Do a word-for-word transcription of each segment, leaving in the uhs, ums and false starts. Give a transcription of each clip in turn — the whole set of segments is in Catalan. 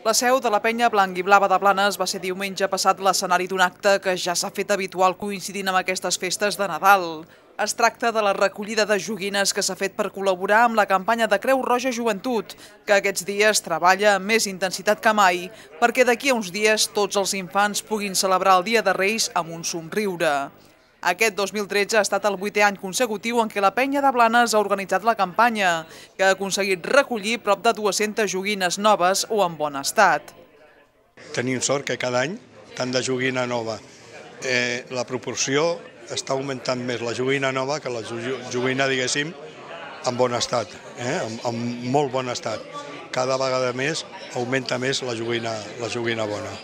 La seu de la penya blanc i blava de Blanes va ser diumenge passat l'escenari d'un acte que ja s'ha fet habitual coincidint amb aquestes festes de Nadal. Es tracta de la recollida de joguines que s'ha fet per col·laborar amb la campanya de Creu Roja Joventut, que aquests dies treballa amb més intensitat que mai, perquè d'aquí a uns dies tots els infants puguin celebrar el Dia de Reis amb un somriure. Aquest dos mil tretze ha estat el vuitè any consecutiu en què la penya de Blanes ha organitzat la campanya, que ha aconseguit recollir prop de dues-centes joguines noves o en bon estat. Tenim sort que cada any, tant de joguina nova, eh, la proporció està augmentant més la joguina nova que la joguina, diguéssim, en bon estat, eh, en, en molt bon estat. Cada vegada més augmenta més la joguina, la joguina bona.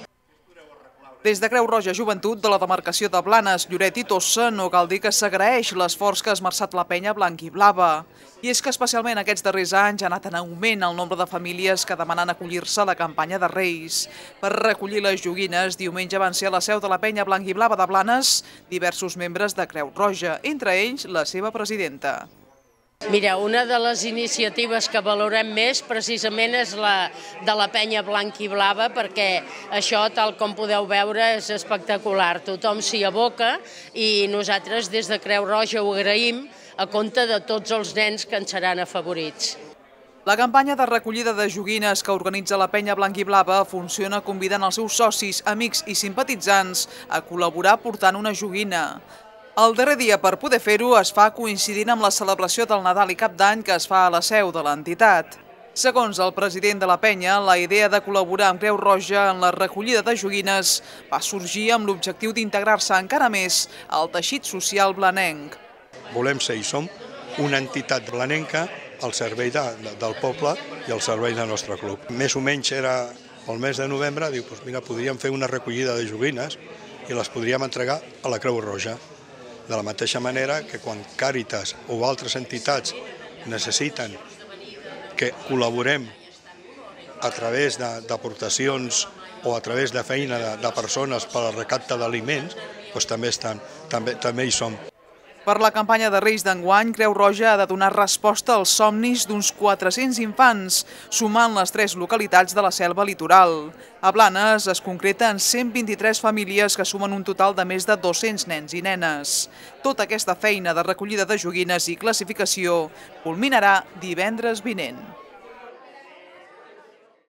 Des de Creu Roja Joventut de la demarcació de Blanes, Lloret i Tossa no cal dir que s'agraeix l'esforç que ha esmerçat la penya blanc i blava. I és que especialment aquests darrers anys ha anat en augment el nombre de famílies que demanen acollir-se a la campanya de Reis. Per recollir les joguines, diumenge van ser a la seu de la penya blanc i blava de Blanes diversos membres de Creu Roja, entre ells la seva presidenta. Mira, una de les iniciatives que valorem més precisament és la de la penya blanc i blava, perquè això, tal com podeu veure, és espectacular. Tothom s'hi aboca i nosaltres des de Creu Roja ho agraïm a compte de tots els nens que ens seran afavorits. La campanya de recollida de joguines que organitza la penya blanc i blava funciona convidant els seus socis, amics i simpatitzants a col·laborar portant una joguina. El darrer dia per poder fer-ho es fa coincidint amb la celebració del Nadal i Cap d'Any que es fa a la seu de l'entitat. Segons el president de la penya, la idea de col·laborar amb Creu Roja en la recollida de joguines va sorgir amb l'objectiu d'integrar-se encara més al teixit social blanenc. Volem ser i som una entitat blanenca al servei de, de, del poble i al servei del nostre club. Més o menys era el mes de novembre, diu, doncs mira, podríem fer una recollida de joguines i les podríem entregar a la Creu Roja. De la mateixa manera que quan Càritas o altres entitats necessiten que col·laborem a través d'aportacions o a través de feina de, de persones per al recapte d'aliments, doncs també, estan, també, també hi som. Per la campanya de Reis d'enguany, Creu Roja ha de donar resposta als somnis d'uns quatre-cents infants, sumant les tres localitats de la selva litoral. A Blanes es concreta en cent vint-i-tres famílies que sumen un total de més de dos-cents nens i nenes. Tota aquesta feina de recollida de joguines i classificació culminarà divendres vinent.